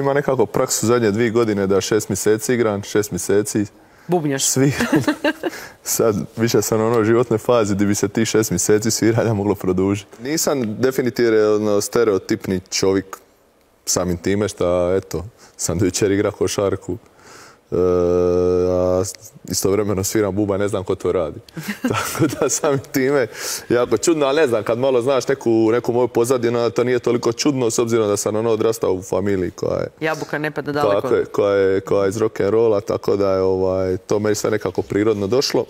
Ima nekako praksu zadnje 2 godine da 6 mjeseci igram, 6 mjeseci bubnjaš. Sviram. Sad više sam u onoj životnoj fazi gdje bi se ti 6 mjeseci sviranja moglo produžiti. Nisam definitivno stereotipni čovjek samim time što, eto, sam do jučer igra košarku. A istovremeno sviram bubanj, ne znam ko to radi. Tako da samim time jako čudno, ali ne znam, kad malo znaš neku moju pozadinu, to nije toliko čudno s obzirom da sam odrastao u familiji koja je... Jabuka ne pada daleko. Koja je iz rock'n'rolla, tako da je to meni sve nekako prirodno došlo.